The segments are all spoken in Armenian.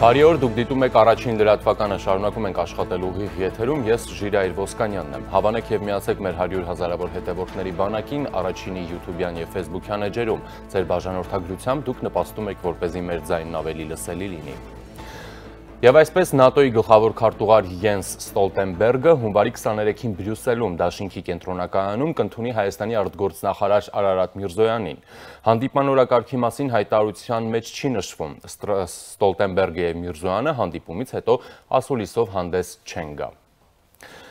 Բարի օր, դուք դիտում եք առաջին լրատվականը, շարունակում ենք աշխատել ուղիղ եթերում, ես Ժիրայր Ոսկանյանն եմ։ Հավանեք եւ միացեք մեր 100 հազարավոր հետևորդների բանակին, առաջինի YouTube-յան եւ Facebook-յան էջերում։ Ձեր բաժանորդագրությամբ դուք նպաստում եք, որպեսզի մեր ձայնն ավելի լսելի լինի։ Եվ այսպես ՆԱՏՕ-ի գլխավոր քարտուղար Յենս Ստոլտենբերգը հունվարի 23-ին Բրյուսելում դաշինքի կենտրոնակայանում կընդունի Հայաստանի արտգործնախարար Արարատ Միրզոյանին։ Հանդիպման օրակարգի մասին հայտարարության մեջ չի նշվում։ Ստոլտենբերգը եւ Միրզոյանը հանդիպումից հետո ասուլիսով հանդես չեն գա։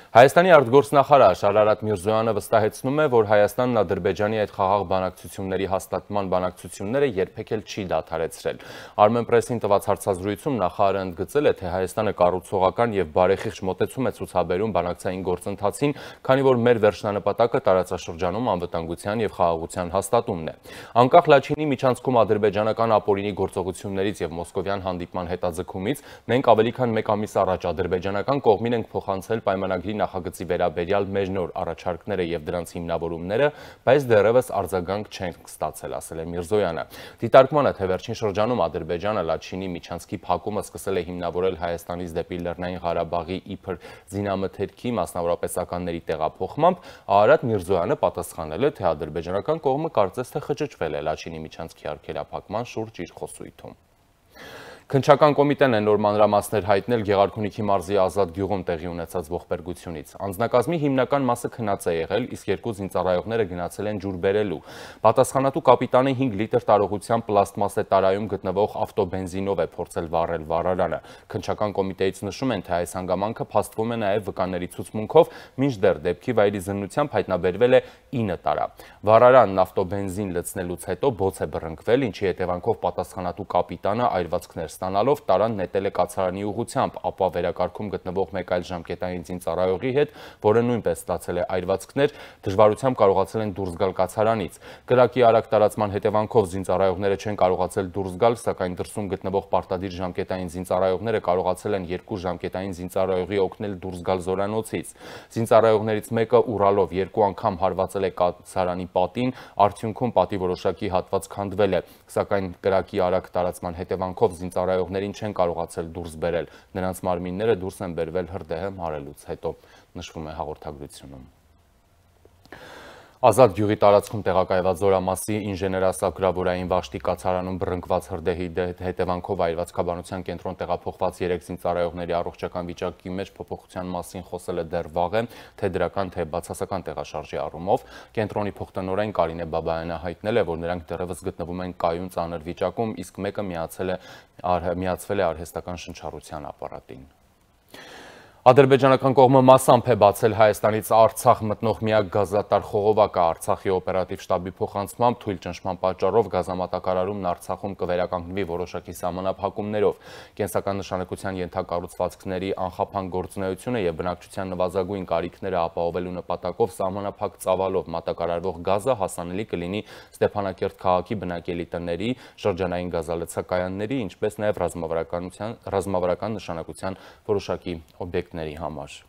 Հայաստանի արտգործնախարար Արարատ Միրզոյանը վստահեցնում է, որ Հայաստանն Ադրբեջանի այդ խաղաղ բանակցությունների հաստատման բանակցությունները երբեք էլ չի դադարեցրել։ Armenpress-ին տված հարցազրույցում նախարարը ընդգծել է, թե Հայաստանը կառուցողական եւ բարեխիղճ մոտեցում է ցուցաբերում բանակցային գործընթացին, քանի որ մեր վերջնանպատակը տարածաշրջանում անվտանգության եւ խաղաղության հաստատումն է։ Անկախ Լաչինի միջանցքում ադրբեջանական ապօրինի գործողություններից եւ մոսկովյան հանդիպման հետաձգումից մենք ավելի քան 1 ամիս առաջ ադրբեջանական կողմին ենք փոխանցել պայմանագրի նախագծի վերաբերյալ մեր նոր առաջարկները եւ դրանց հիմնավորումները, բայց դեռևս արձագանք չենք ստացել, ասել է Միրզոյանը։ Դիտարկմանը, թե վերջին շրջանում Ադրբեջանը Լաչինի միջանցքի փակումը սկսել է հիմնավորել Հայաստանից դեպի Լեռնային Ղարաբաղի իբր զինամթերքի մասնավորապես տեղափոխմամբ, Արարատ Միրզոյանը պատասխանել է, թե ադրբեջանական կողմը կարծես թե խճճվել է Լաչինի միջանցքի արգելափակման շուրջ իր խոսույթում։ Քննչական կոմիտեն է նոր մանրամասներ հայտնել Գեղարքունիքի մարզի Ազատ գյուղում տեղի ունեցած ողբերգությունից։ Անձնակազմի հիմնական մասը քնած է եղել, իսկ 2 զինծառայողները գնացել են ջուր բերելու։ Պատասխանատու կապիտանը 5 լիտր տարողությամբ պլաստմասե տարայում գտնվող ավտոբենզինով է փորձել վառել վառարանը։ Քննչական կոմիտեից նշում են, թե այս հանգամանքը փաստվում է նաև վկաների ցուցմունքով, մինչդեռ դեպքի վայրի զննությամբ հայտնաբերվել է 9 տարա։ Վառարանն ավտոբենզին լցնելուց հետո բոց է բռնկվել, ինչի հետևանքով պատասխանատու կապիտանը այրվածքներ ստանալով տարան նետել է կացարանի ուղղությամբ, ապա վերակարգում գտնվող մեկ այլ ժամկետային զինծառայողի հետ, որը նույնպես ստացել է այրվածքներ, դժվարությամբ կարողացել են դուրս գալ կացարանից։ Կրակի արագ տարածման հետևանքով զինծառայողները չեն կարողացել դուրս գալ, սակայն դրսում գտնվող պարտադիր ժամկետային զինծառայողները կարողացել են 2 ժամկետային զինծառայողի օգնել դուրս գալ զորանոցից։ Զինծառայողներից մեկը ուռալով 2 անգամ հարվածել է կացարանի պատին, արդյունքում պատի որոշակի հատված քանդվել է, սակայն կրակի արագ տարածման հետևանքով զինծառայողներին չեն կարողացել դուրս բերել, նրանց մարմինները դուրս են բերվել հրդեհը մարելուց հետո, նշվում է հաղորդագրությունում։ Ազատ գյուղի տարածքում տեղակայված Զորամասի ինժեներասակրավորային վաշտի կացարանում բռնկված հրդեհի հետևանքով այրվածքաբանության կենտրոն տեղափոխված 3 զինծառայողների առողջական վիճակի մեջ փոփոխության մասին խոսել է դեռ վաղ է, թե դրական, թե բացասական տեղաշարժի առումով։ Կենտրոնի փոխտնօրեն Կարինե Բաբայանը հայտնել է, որ նրանք դեռևս գտնվում են կայուն ծանր վիճակում, իսկ մեկը միացվել է արհեստական շնչառության ապարատին։ Ադրբեջանական կողմը մասամբ է բացել Հայաստանից Արցախ մտնող միակ գազատար խողովակը Արցախի օպերատիվ շտաբի փոխանցմամբ թույլ ճնշման պատճառով գազամատակարարումն Արցախում կվերականգնվի որոշակի սահմանափակումներով։ Կենսական նշանակության ենթակառուցվածքների անխափան գործունեությունը եւ բնակչության նվազագույն կարիքները ապահովելու նպատակով սահմանափակ ծավալով մատակարարվող գազը հասանելի կլինի Ստեփանակերտ քաղաքի բնակելի տների, շրջանային գազալցակայանների, ինչպես նաեւ ռազմավարական նշանակության որոշակի օբյեկտների համար։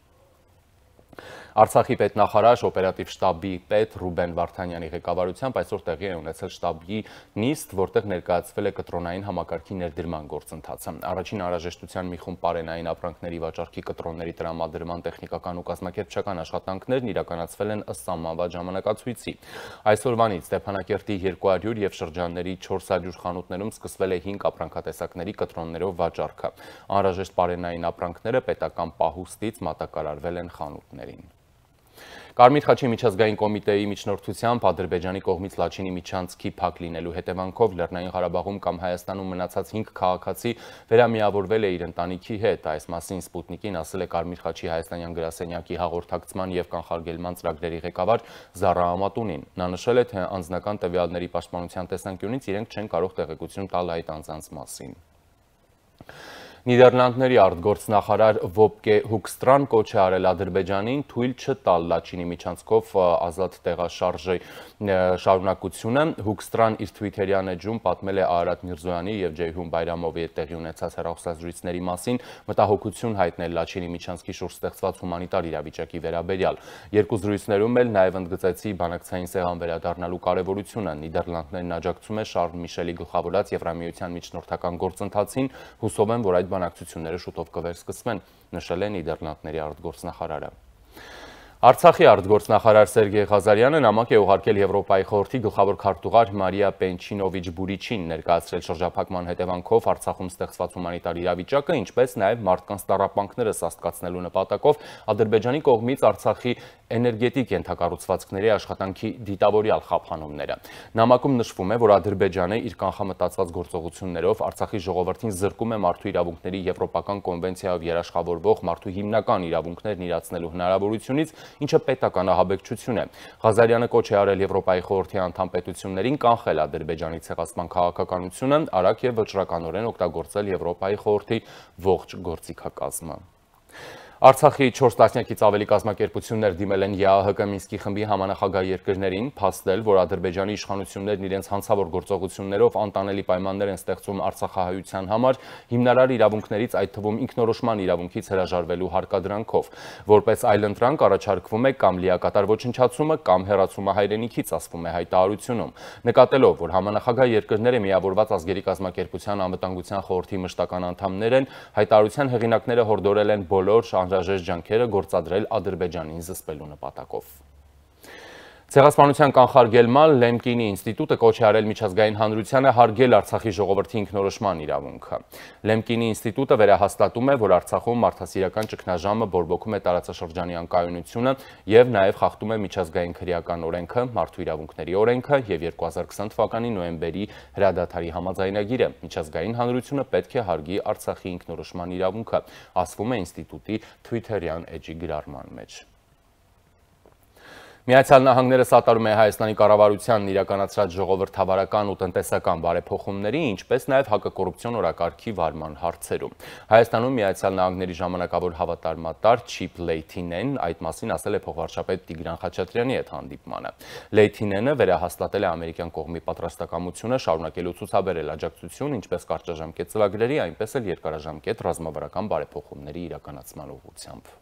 Արցախի պետնախարար օպերատիվ շտաբի պետ Ռուբեն Վարդանյանի ղեկավարությամբ այսօր տեղի է ունեցել շտաբի նիստ, որտեղ ներկայացվել է կտրոնային համակարգի ներդրման գործընթացը։ Առաջին անհրաժեշտության մի խումբ պարենային ապրանքների վաճառքի կտրոնների տրամադրման տեխնիկական ու կազմակերպչական աշխատանքներն իրականացվել են ըստ սահմանված ժամանակացույցի։ Այսօրվանից Ստեփանակերտի 200 եւ շրջանների 400 խանութներում սկսվել է 5 ապրանքատեսակների կտրոններով վաճառքը։ Անհրաժեշտ պարենային ապրանքները պետական պահուստից մատակարարվել են խանութներին։ Կարմիր խաչի միջազգային կոմիտեի միջնորդությամբ Ադրբեջանի կողմից Լաչինի միջանցքի փակ լինելու հետևանքով Լեռնային Ղարաբաղում կամ Հայաստանում մնացած 5 քաղաքացի վերամիավորվել է իր ընտանիքի հետ։ Այս մասին Սպուտնիկին ասել է Կարմիր խաչի հայաստանյան գրասենյակի հաղորդակցման եւ կանխարգելման ծրագրերի ղեկավար Զարա Ամատունին։ Նա նշել է, թե անձնական տվյալների պաշտպանության տեսանկյունից իրենք չեն կարող տեղեկություն տալ այդ անձանց մասին։ Նիդերլանդների արտգործնախարար Վոբկե Հուկստրան կոչ է արել Ադրբեջանին թույլ չտալ Լաչինի միջանցքով ազատ տեղաշարժի շարունակությունը։ Հուկստրան իր Twitter-յան էջում պատմել է Արարատ Միրզոյանի եւ Ջեյհուն Բայրամովի հետ տեղի ունեցած հեռախոսազրույցների մասին, մտահոգություն հայտնել Լաչինի միջանցքի շուրջ ստեղծված հումանիտար իրավիճակի վերաբերյալ։ Երկու զրույցներում էլ նաեւ ընդգծեցի բանակցային սեղան վերադառնալու կարեւորությունը։ Նիդերլանդներն աջակցում է Շարլ Միշելի գլխավորած Եվրամիության միջնորդական գործընթացին, հուսով են, որ այդ այդ բանակցությունները շուտով կվերսկսվեն, նշել է Նիդերլանդների արտգործնախարարը։ Արցախի արտգործնախարար Սերգեյ Ղազարյանը նամակ է ուղարկել Եվրոպայի խորհրդի գլխավոր քարտուղար Մարիա Պենչինովիչ Բուրիչին, ներկայացրել շրջափակման հետևանքով Արցախում ստեղծված հումանիտար իրավիճակը, ինչպես նաև մարդկանց տառապանքները սաստկացնելու նպատակով Ադրբեջանի կողմից Արցախի էներգետիկ ենթակառուցվածքների աշխատանքի դիտավորյալ խափանումները։ Նամակում նշվում է, որ Ադրբեջանը իր կանխամտածված գործողություններով Արցախի ժողովրդին զրկում է մարդու իրավունքների եվրոպական կոնվենցիայով երաշխավորվող մարդու հիմնական իրավունքներն իրացնելու հնարավորությունից, ինչը պետական ահաբեկչություն է։ Ղազարյանը կոչ է արել Եվրոպայի խորհրդի անդամ պետություններին կանխել Ադրբեջանի ցեղասպան քաղաքականությունը, արագ եւ վճռականորեն օգտագործել Եվրոպայի խորհրդի ողջ գործիքակազմը։ Արցախի 4 տասնյակից ավելի կազմակերպություններ դիմել են ԵԱՀԿ Մինսկի խմբի համանախագահ երկրներին, փաստել, որ Ադրբեջանի իշխանություններն իրենց հանցավոր գործողություններով անտանելի պայմաններ են ստեղծում արցախահայության համար, հիմնարար իրավունքներից, այդ թվում ինքնորոշման իրավունքից հրաժարվելու հարկադրանքով։ Որպես այլընտրանք առաջարկվում է կամ լիակատար ոչնչացումը, կամ հեռացումը հայրենիքից, ասվում է հայտարարությունում։ Նկատելով, որ համանախագահ երկրները միավորված ազգերի կազմակերպության անվտանգության խորհրդի մշտական անդամներ են, հայտարարության հեղինակները հորդորել են բոլոր անհրաժեշտ ջանքերը գործադրել Ադրբեջանին զսպելու նպատակով։ Ցեղասպանության կանխարգելման Լեմկինի ինստիտուտը կոչ է արել միջազգային հանրությանը հարգել Արցախի ժողովրդի ինքնորոշման իրավունքը։ Լեմկինի ինստիտուտը վերահաստատում է, որ Արցախում մարդասիրական ճգնաժամը բորբոքում է տարածաշրջանի անկայունությունը եւ նաեւ խախտում է միջազգային քրեական օրենքը, մարդու իրավունքների օրենքը եւ 2020 թվականի նոյեմբերի հրադադարի համաձայնագիրը։ Միջազգային հանրությունը պետք է հարգի Արցախի ինքնորոշման իրավունքը, ասվում է ինստիտուտի Twitter-յան էջի գրառման մեջ։ Միացյալ Նահանգները սատարում է Հայաստանի կառավարությանն իրականացրած ժողովրդավարական ու տնտեսական բարեփոխումների, ինչպես նաև հակակոռուպցիոն օրակարգի վարման հարցերում։ Հայաստանում Միացյալ Նահանգների ժամանակավոր հավատարմատար Չիփ Լեյթինեն այդ մասին ասել է փոխվարչապետ Տիգրան Խաչատրյանի հետ հանդիպմանը։ Լեյթինենը վերահաստատել է ամերիկյան կողմի պատրաստակամությունը շարունակելու ցուցաբերել աջակցություն ինչպես կարճաժամկետ ծրագրերի, այնպես էլ երկարաժամկետ ռազմավարական բարեփոխումների իրականացման ուղղությամբ։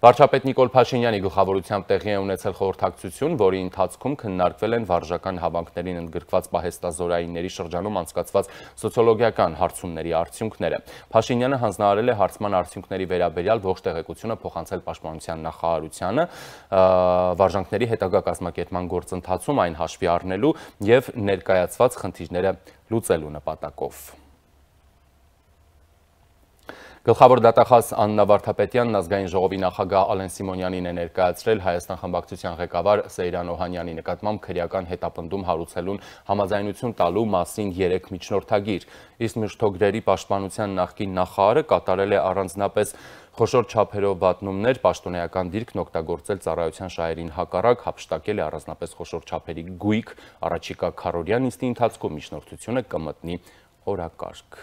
Վարչապետ Նիկոլ Փաշինյանի գլխավորությամբ տեղի է ունեցել խորհրդակցություն, որի ընթացքում քննարկվել են վարժական հավաքներին ընդգրկված պահեստազորայինների շրջանում անցկացված սոցիոլոգիական հարցումների արդյունքները։ Փաշինյանը հանձնարարել է հարցման արդյունքների վերաբերյալ ողջ տեղեկությունը փոխանցել Պաշտպանության նախարարությանը, վարժանքների հետագա կազմակերպման գործընթացում այն հաշվի առնելու եւ ներկայացված խնդիրները լուծելու նպատակով։ Գլխավոր դատախազ Աննա Վարդապետյանն ազգային ժողովի նախագահ Ալեն Սիմոնյանին է ներկայացրել Հայաստան խմբակցության ղեկավար Սեյրան Օհանյանի նկատմամբ քրեական հետապնդում հարուցելուն համաձայնություն տալու մասին 3 միջնորդագիր, իսկ մշտօգրերի պաշտպանության նախկին նախարարը կատարել է առանձնապես խոշոր չափերով վատնումներ, պաշտոնեական դիրքն օգտագործել ծառայության շահերին հակառակ, հափշտակել է առանձնապես խոշոր չափերի գույք, առաջիկա քառօրյա նիստի ընթացքում միջնորդությունը կմտնի օրակարգ։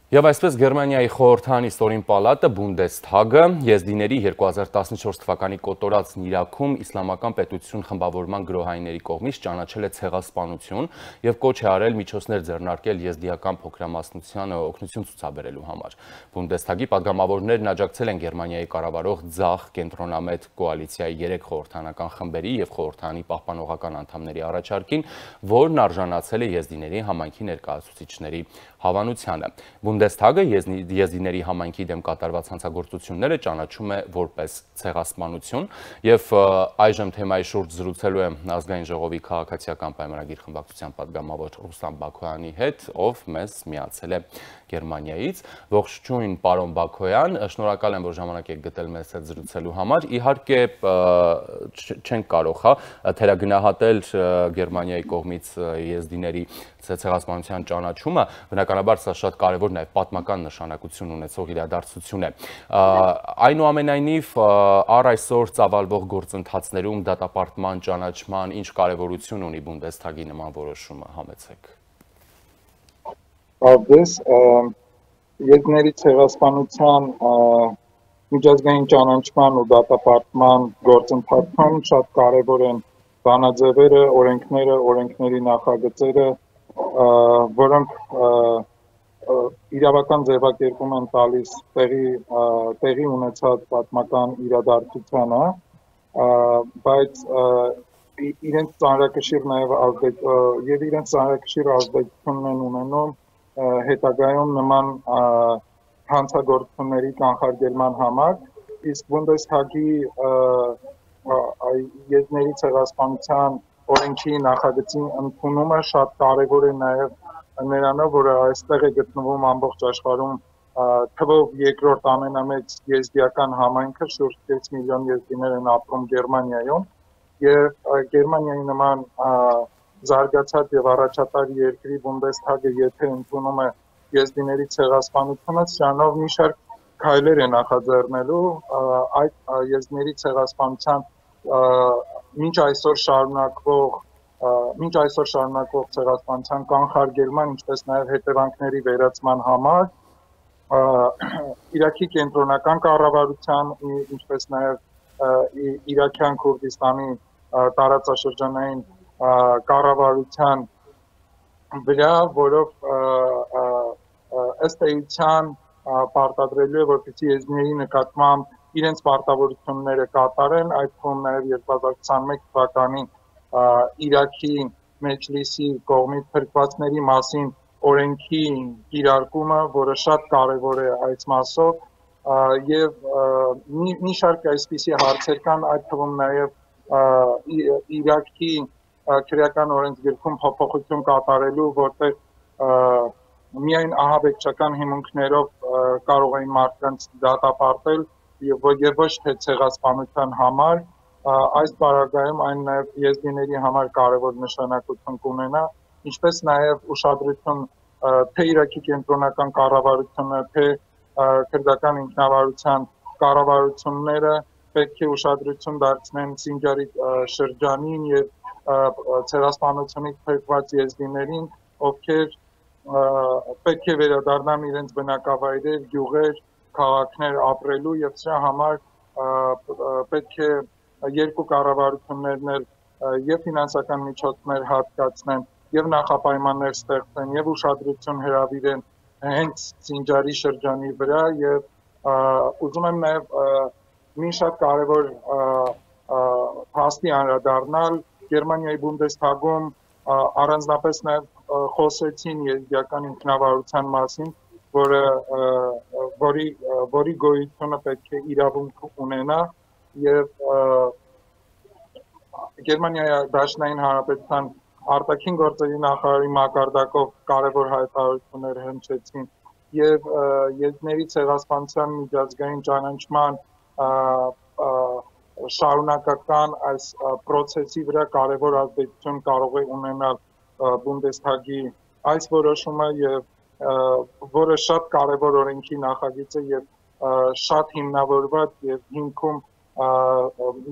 Եվ այսպես Գերմանիայի խորհրդային ստորին պալատը Բունդեսթագը եզդիների 2014 թվականի կոտորածն Իրաքում իսլամական պետություն խմբավորման գրոհայինների կողմից ճանաչել է ցեղասպանություն եւ կոչ է արել միջոցներ ձեռնարկել եզդիական փոքրամասնությանը օգնություն ցուցաբերելու համար։ Բունդեսթագի падգամավորներն աջակցել են Գերմանիայի կառավարող ձախ կենտրոնամետ կոալիցիայի 3 խորհրդանական խմբերի եւ խորհրդանի պահպանողական անդամների առաջարկին, որն արժանացել է եզդիների համայնքի ներկայացուցիչների հավանությանը։ Բունդեսթագը եզդիների համայնքի դեմ կատարված հանցագործությունները ճանաչում է որպես ցեղասպանություն եւ այժմ թեմայի շուրջ զրուցելու եմ ազգային ժողովի քաղաքացիական պայմանագիր խմբակցության падգամավոր Ռուստամ Բաքոյանի հետ, ով մեզ միացել է Գերմանիայից։ Ողջույն, պարոն Բաքոյան, շնորհակալ եմ, որ ժամանակ եք գտել մեզ հետ զրուցելու համար։ Իհարկե չենք կարող թերագնահատել Գերմանիայի կողմից եզդիների ցեղասպանության ճանաչումը, բնականաբար սա շատ կարևոր նաև պատմական նշանակություն ունեցող իրադարձություն է։ Այնուամենայնիվ, առ այսօր ծավալվող գործընթացներում դատապարտման ճանաչման ինչ կարևորություն ունի Բունդեսթագի նման որոշումը, համեցեք։ Արդես, եզդիների ցեղասպանության միջազգային ճանաչման ու դատապարտման գործընթացում շատ կարևոր են բանաձևերը, օրենքների նախագծերը, որոնք իրավական ձևակերպում են տալիս տեղի ունեցած պատմական իրադարձությանը, բայց իրենց ծանրակշիռ նաև իրենց ծանրակշիռ ազդեցությունն են ունենում հետագայում նման հանցագործությունների կանխարգելման համար, իսկ Բունդեսթագի եզների ցեղասպանության օրենքի նախագծի ընդունումը շատ կարևոր է նաև նրանով, որ այստեղ է գտնվում ամբողջ աշխարհում թվով երկրորդ ամենամեծ եզդիական համայնքը, շուրջ 6 միլիոն եզդիներ են ապրում Գերմանիայում, եւ Գերմանիայի նման զարգացած եւ առաջատար երկրի Բունդեսթագը եթե ընդունում է եզդիների ցեղասպանությունը, սրանով մի շարք քայլեր է նախաձեռնելու այդ եզդիների ցեղասպանության մինչ այսօր շարունակվող ցեղասպանության կանխարգելման, ինչպես նաև հետևանքների վերացման համար Իրաքի կենտրոնական կառավարության, ինչպես նաև Իրաքյան Քուրդիստանի տարածաշրջանային կառավարության վրա, որով ըստ էության պարտադրելու է, որպեսզի եզդիների նկատմամբ իրենց պարտավորությունները կատարեն, այդ թվում նաև 2021 թվականի Իրաքի մեջլիսի կողմից փրկվածների մասին օրենքի կիրարկումը, որը շատ կարևոր է այս մասով, եւ մի շարք այսպիսի հարցեր կան, այդ թվում նաև Իրաքի քրեական օրենսգրքում փոփոխություն կատարելու, որտեղ միայն ահաբեկչական հիմունքներով կարող էին մարդկանց դատապարտել եւ ոչ թե ցեղասպանության համար, այս պարագայում այն նաև եզդիների համար կարևոր նշանակություն կունենա, ինչպես նաև ուշադրություն թե Իրաքի կենտրոնական կառավարությունը, թե քրդական ինքնավարության կառավարությունները պետք է ուշադրություն դարձնեն Սինջարի շրջանին եւ ցեղասպանությունից փրկված եզդիներին, ովքեր պետք է վերադառնան իրենց բնակավայրեր, գյուղեր, քաղաքներ ապրելու եւ սրա համար պետք է երկու կառավարություններն էլ եւ ֆինանսական միջոցներ հատկացնեն եւ նախապայմաններ ստեղծեն եւ ուշադրություն հրավիրեն հենց Սինջարի շրջանի վրա եւ ուզում եմ նաեւ մի շատ կարևոր փաստի անդրադառնալ Գերմանիայի Բունդեսթագում առանձնապես նաեւ խոսեցին եզդիական ինքնավարության մասին, որի գոյությունը պետք է իրավունք ունենա եւ Գերմանիայի Դաշնային Հանրապետության արտաքին գործերի նախարարի մակարդակով կարևոր հայտարարություններ հնչեցին եւ եզդիների ցեղասպանության միջազգային ճանաչման շարունակական այս process-ի վրա կարևոր ազդեցություն կարող է ունենալ Բունդեսթագի այս որոշումը եւ որը շատ կարևոր օրենքի նախագիծ է եւ շատ հիմնավորված եւ հիմքում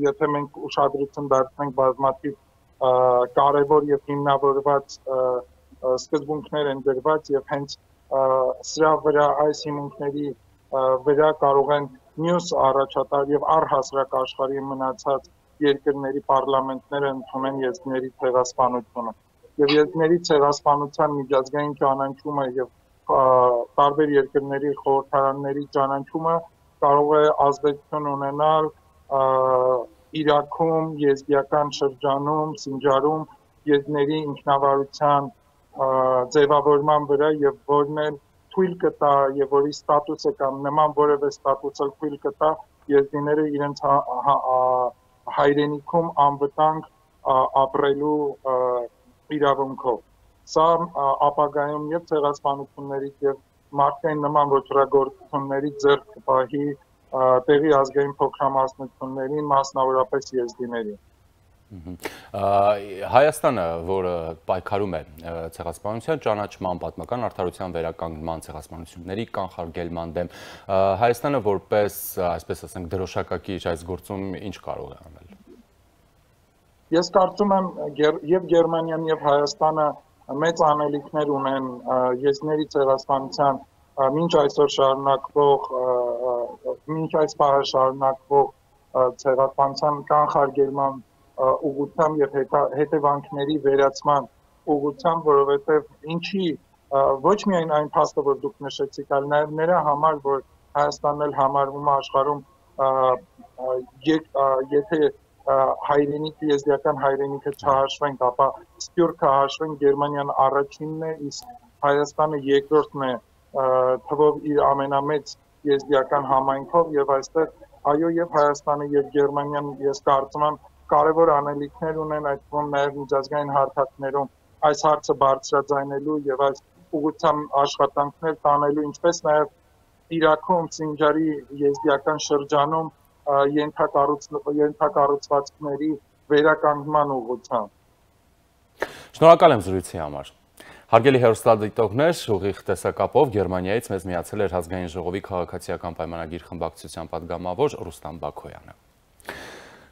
եթե մենք ուշադրություն դարձնենք բազմաթիվ կարևոր եւ հիմնավորված սկզբունքներ են դրված եւ հենց սրա վրա այս հիմունքների վրա կարող են մյուս առաջատար եւ առհասարակ աշխարհի մնացած երկրների պարլամենտները ընդունել եզդիների ցեղասպանությունը եւ եզդիների ցեղասպանության միջազգային ճանաչումը եւ տարբեր երկրների խորհրդարանների ճանաչումը կարող է ազդեցություն ունենալ Իրաքում, եզդիական շրջանում, Սինջարում եզդիների ինքնավարության ձևավորման վրա եւ որն էլ թույլ կտա եւ որի ստատուսը կամ նման որևէ ստատուսը թույլ կտա եզդիները իրենց հայրենիքում անվտանգ ապրելու իրավունքով։ Սա ապագայում եւ ցեղասպանություններից եւ մարդկային նման ոճրագործություններից ձեռք կպահի տեղի ազգային փոքրամասնություններին, մասնավորապես եզդիներին։ Հայաստանը, որը պայքարում է ցեղասպանության ճանաչման, պատմական արդարության վերականգնման, ցեղասպանությունների կանխարգելման դեմ, Հայաստանը որպես, այսպես ասենք, դրոշակակիր այս գործում ինչ կարող է անել։ Ես կարծում եմ եւ Գերմանիան եւ Հայաստանը մեծ անելիքներ ունեն եզդիների ցեղասպանության մինչ այսօր շարունակվող մինչ այս պահը շարունակվող ցեղասպանության կանխարգելման ուղղությամբ եւ հետևանքների վերացման ուղղությամբ, որովհետեւ ինչի ոչ միայն այն փաստը, որ դուք նշեցիք, այլ նաեւ նրա համար, որ Հայաստանն էլ համարվում է աշխարհում եթե հայրենիքը, եզդիական հայրենիքը չհաշվենք, ապա Սփյուռքը հաշվենք, Գերմանիան առաջինն է, իսկ Հայաստանը երկրորդն է թվով իր ամենամեծ եզդիական համայնքով, եւ այստեղ այո, եւ Հայաստանը եւ Գերմանիան ես կարծում եմ կարևոր անելիքներ ունեն, այդ թվում նաեւ միջազգային հարթակներում այս հարցը բարձրաձայնելու եւ այս ուղղությամբ աշխատանքներ տանելու, ինչպես նաեւ Իրաքում Սինջարի եզդիական շրջանում ենթակառուցվածքների վերականգնման ուղղությամբ։ Շնորհակալ եմ զրույցի համար։ Հարգելի հեռուստադիտողներ, ուղիղ տեսակապով Գերմանիայից մեզ միացել էր Ազգային ժողովի քաղաքացիական պայմանագիր խմբակցության պատգամավոր Ռուստամ Բաքոյանը։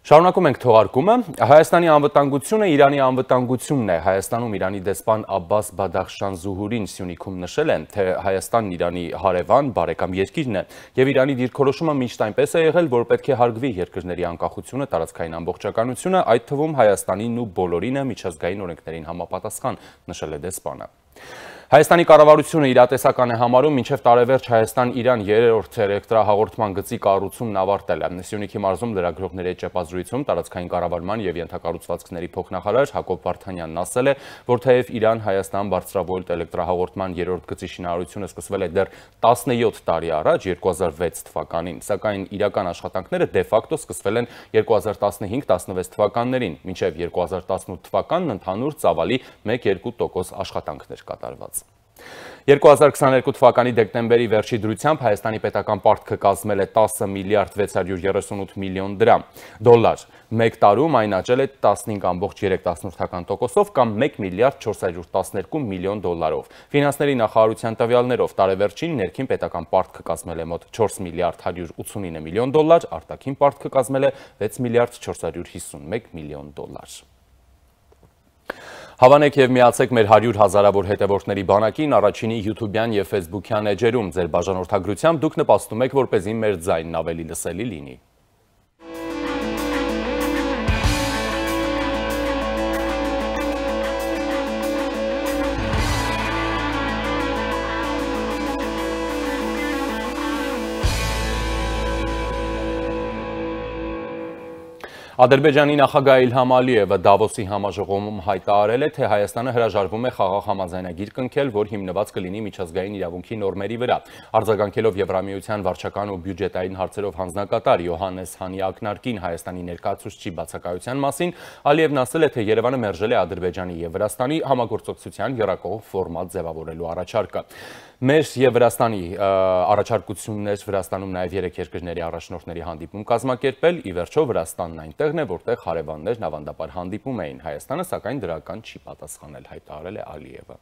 Շարունակում ենք թողարկումը։ Հայաստանի անվտանգությունը Իրանի անվտանգությունն է։ Հայաստանում Իրանի դեսպան Աբբաս Բադախշան Զուհուրին Սյունիքում նշել են, թե Հայաստանն Իրանի հարևան, բարեկամ երկիրն է, եւ Իրանի դիրքորոշումը միշտ այնպես է եղել, որ պետք է հարգվի երկրների անկախությունը, տարածքային ամբողջականությունը, այդ թվում Հայաստանին ու բոլորինը միջազգային օրենքներին համապատասխան, նշել է դեսպանը։ Հայաստանի կառավարությունը իրատեսական է համարում մինչև տարեվերջ Հայաստան-Իրան երրորդ էլեկտրահաղորդման գծի կառուցումն ավարտել է։ Սյունիքի մարզում լրագրողների ճեպազրույցում տարածքային կառավարման եւ ենթակառուցվածքների փոխնախարար Հակոբ Վարդանյանն ասել է, որ թեև Իրան-Հայաստան բարձրավոլտ էլեկտրահաղորդման երրորդ գծի շինարարությունը սկսվել է դեռ 17 տարի առաջ 2006 թվականին, սակայն իրական աշխատանքները դե ֆակտո սկսվել են 2015-16 թվականներին, մինչև 2018 թվականն ընդհանուր ծավալի 1-2% աշխատանքներ կատարված։ 2022 թվականի դեկտեմբերի վերջի դրությամբ Հայաստանի պետական պարտքը կազմել է 10 միլիարդ 638 միլիոն դոլար, մեկ տարում այն աճել է 15.3%-ով կամ 1 միլիարդ 412 միլիոն դոլարով։ Ֆինանսների նախարարության տվյալներով տարեվերջին ներքին պետական պարտքը կազմել է մոտ 4 միլիարդ 189 միլիոն դոլար, արտաքին պարտքը կազմել է 6 միլիարդ 451 միլիոն դոլար։ Հավանեք եւ միացեք մեր 100 հազարավոր հետևորդների բանակին առաջինի YouTube-յան եւ Facebook-յան էջերում։ Ձեր բաժանորդագրությամբ դուք նպաստում եք, որպեսզի մեր ձայնն ավելի լսելի լինի։ Ադրբեջանի նախագահ Իլհամ Ալիևը Դավոսի համաժողովում հայտարարել է, թե Հայաստանը հրաժարվում է խաղաղ համաձայնագիր կնքել, որ հիմնված կլինի միջազգային իրավունքի նորմերի վրա։ Արձագանքելով Եվրամիության վարչական ու բյուջետային հարցերով հանձնակատար Յոհաննես Հանի ակնարկին Հայաստանի ներկայացուցչի բացակայության մասին, Ալիևն ասել է, թե Երևանը մերժել է Ադրբեջանի եւ Վրաստանի համագործակցության եռակողմ ֆորմատ ձևավորելու առաջարկը։ Մեր եւ Վրաստանի առաջարկություններ Վրաստանում նաեւ 3 երկրների առաջնորդների հանդիպում կազմակերպել, ի վերջո Վրաստանն այնտեղն է, որտեղ հարևաններն ավանդաբար հանդիպում էին, Հայաստանը սակայն դրական չի պատասխանել, հայտարարել է Ալիևը։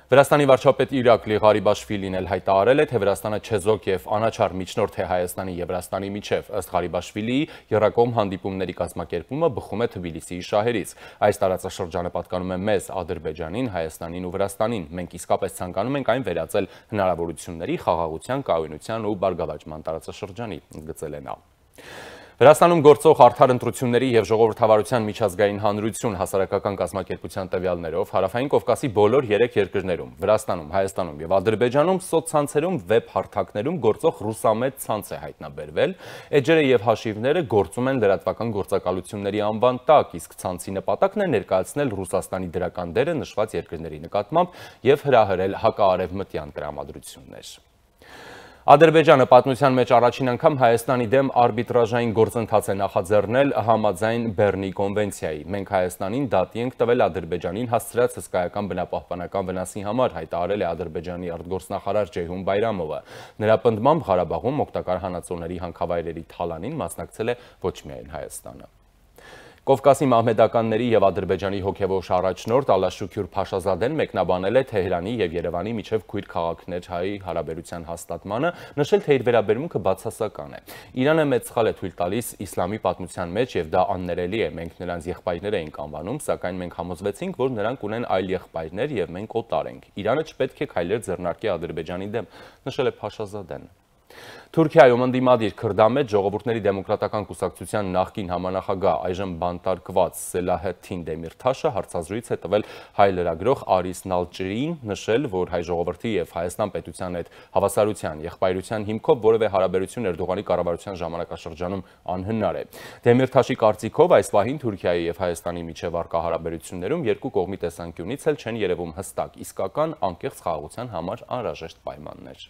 Վրաստանի վարչապետ Իրակլի Ղարիբաշվիլին էլ հայտարարել է, թե Վրաստանը չեզոք եւ անաչառ միջնորդ է Հայաստանի եւ Վրաստանի միջև։ Ըստ Ղարիբաշվիլիի, եռակողմ հանդիպումների կազմակերպումը բխում է Թբիլիսիի շահերից։ Այս տարածաշրջանը պատկանում է մեզ, Ադրբեջանին, Հայաստանին ու Վրաստանին։ Մենք իսկապես ցանկանում ենք այն վերածել հնարավորությունների, խաղաղության, կայունության ու բարգավաճման տարածաշրջանի, ընդգծել է նա։ Վրաստանում գործող արդար ընտրությունների եւ ժողովրդավարության միջազգային հանրություն հասարակական կազմակերպության տվյալներով Հարավային Կովկասի բոլոր 3 երկրներում՝ Վրաստանում, Հայաստանում եւ Ադրբեջանում սոցցանցերում, վեբ հարթակներում գործող ռուսամետ ցանց է հայտնաբերվել, էջերը եւ հաշիվները գործում են լրատվական գործակալությունների անվան տակ, իսկ ցանցի նպատակն է ներկայացնել Ռուսաստանի դրական դերը նշված երկրների նկատմամբ եւ հրահրել հակաարևմտյան տրամադրություններ։ Ադրբեջանը պատմության մեջ առաջին անգամ Հայաստանի դեմ արբիտրաժային գործընթաց է նախաձեռնել համաձայն Բեռնի կոնվենցիայի։ Մենք Հայաստանին դատի ենք տվել Ադրբեջանին հասցրած հսկայական բնապահպանական վնասի համար, հայտարարել է Ադրբեջանի արտգործնախարար Ջեյհուն Բայրամովը։ Նրա պնդմամբ Ղարաբաղում օգտակար հանածոների հանքավայրերի թալանին մասնակցել է ոչ միայն Հայաստանը։ Կովկասի մահմեդականների եւ Ադրբեջանի հոգեվոր առաջնորդ Ալաշուքյուր Փաշազադեն մեկնաբանել է Թեհրանի եւ Երևանի միջև քույր քաղաքներ-հայ հարաբերության հաստատմանը, նշել, թե իր վերաբերմունքը բացասական է։ Իրանը մեծ սխալ է թույլ տալիս իսլամի պատմության մեջ եւ դա աններելի է։ Մենք նրանց եղբայրներ էինք անվանում, սակայն մենք համոզվեցինք, որ նրանք ունեն այլ եղբայրներ եւ մենք օտար ենք։ Իրանը չպետք է քայլեր ձեռնարկի Ադրբեջանի դեմ, նշել է Փաշազադեն։ Թուրքիայում ընդդիմադիր քրդամետ ժողովուրդների դեմոկրատական կուսակցության նախկին համանախագահ այժմ բանտարկված Սելահեդդին Դեմիրթաշը հարցազրույց է տվել հայ լրագրող Արիս Նալչրիին, նշել, որ հայ ժողովրդի եւ Հայաստան պետության հետ հավասարության եղբայրության հիմքով որևէ հարաբերություն Էրդողանի կառավարության ժամանակաշրջանում անհնար է։ Դեմիրթաշի կարծիքով այս պահին Թուրքիայի եւ Հայաստանի միջև առկա հարաբերություններում երկու կողմի տեսանկյունից էլ չեն երևում հստակ, իսկական անկեղծ խաղաղության համար անհրաժեշտ պայմաններ։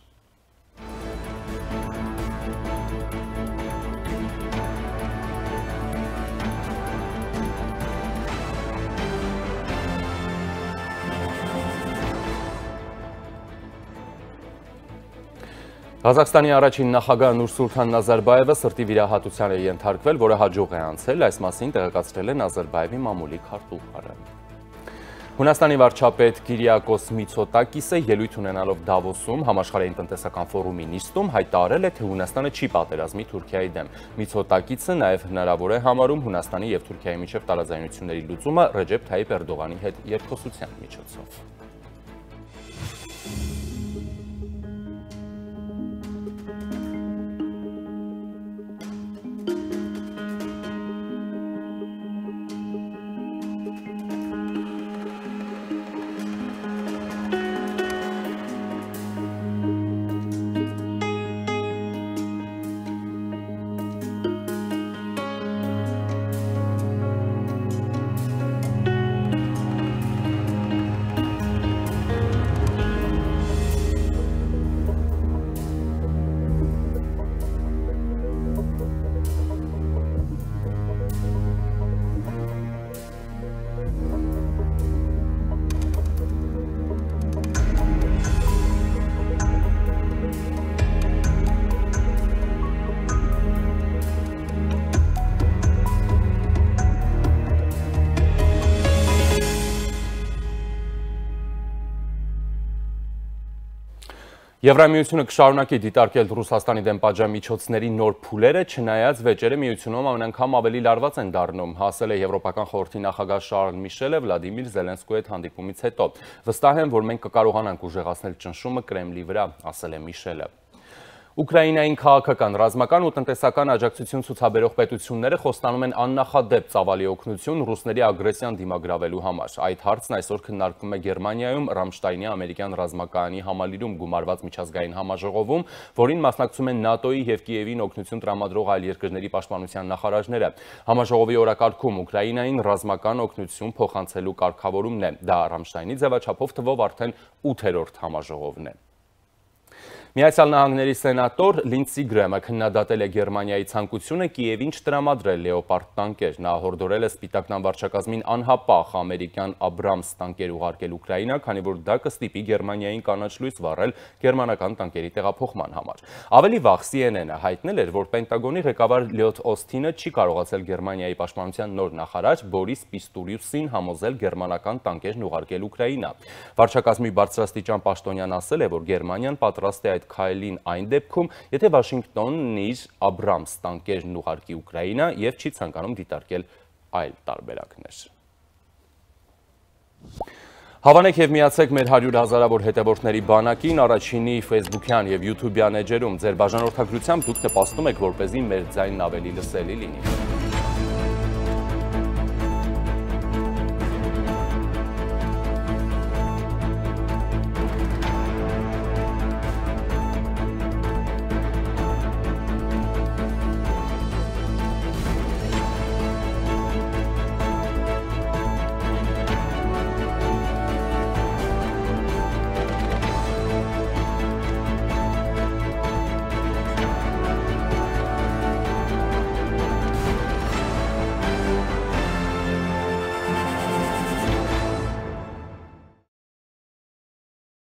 Ղազախստանի առաջին նախագահ Նուրսուլթան Նազարբաևը սրտի վիրահատության է ենթարկվել, որը հաջող է անցել, այս մասին տեղեկացրել է Նազարբաևի մամուլի քարտուղարը։ Հունաստանի վարչապետ Կիրիակոս Միցոտակիսը ելույթ ունենալով Դավոսում համաշխարհային տնտեսական ֆորումի նիստում հայտարարել է, թե Հունաստանը չի պատերազմի Թուրքիայի դեմ։ Միցոտակիսը նաև հնարավոր է համարում Հունաստանի եւ Թուրքիայի միջև տարաձայնությունների լուծումը Ռեջեփ Թայիփ Էրդողանի հետ երկխոսության միջոցով։ Եվրամիությունը կշարունակի դիտարկել Ռուսաստանի դեմ պատժամիջոցների նոր փուլերը, չնայած վեճերը միությունում ամեն անգամ ավելի լարված են դառնում, ասել է Եվրոպական խորհրդի նախագահ Շարլ Միշելը Վլադիմիր Զելենսկուի հետ հանդիպումից հետո։ Վստահ եմ, որ մենք կկարողանանք ուժեղացնել ճնշումը Կրեմլի վրա, ասել է Միշելը։ Ուկրաինային քաղաքական, ռազմական ու տնտեսական աջակցություն ցուցաբերող պետությունները խոստանում են աննախադեպ ծավալի օգնություն ռուսների ագրեսիան դիմագրավելու համար։ Այդ հարցն այսօր քննարկվում է Գերմանիայում Ռամշտայնի ամերիկյան ռազմակայանի համալիրում գումարված միջազգային համաժողովում, որին մասնակցում են ՆԱՏՕ-ի եւ Կիևին օգնություն տրամադրող այլ երկրների պաշտպանության նախարարները։ Համաժողովի օրակարգում Ուկրաինային ռազմական օգնություն փոխանցելու կարգավորումն է։ Դա Ռամշտայնի ձևաչափով թվով արդեն 8-րդ համաժողովն է։ Միացյալ Նահանգների սենատոր Լինդսի Գրեմը քննադատել է Գերմանիայի ցանկությունը Կիևին չտրամադրել լեոպարդ տանկեր։ Նա հորդորել է Սպիտակնան վարչակազմին անհապաղ ամերիկյան Աբրամս տանկեր ուղարկել Ուկրաինա, քանի որ դա կստիպի Գերմանիային կանաչ լույս վառել գերմանական տանկերի տեղափոխման համար։ Ավելի վաղ CNN-ը հայտնել էր, որ Պենտագոնի ղեկավար Լյոթ Օսթինը չի կարողացել Գերմանիայի պաշտպանության նոր նախարար Բորիս Պիստուրիուսին համոզել գերմանական տանկերն ուղարկել Ուկրաինա։ Վարչակազմի բարձրաստիճան պաշտոնյան ասել է, որ Գերմանիան պատրաստ է այդ քայլին այն դեպքում, եթե Վաշինգտոնն իր Աբրամս տանկերն ուղարկի Ուկրաինա եւ չի ցանկանում դիտարկել այլ տարբերակներ։ Հավանեք եւ միացեք մեր 100 հազարավոր հետևորդների բանակին, առաջինի Facebook-յան եւ YouTube-յան էջերում։ Ձեր բաժանորդագրությամբ դուք նպաստում եք, որպեսզի մեր ձայնն ավելի լսելի լինի։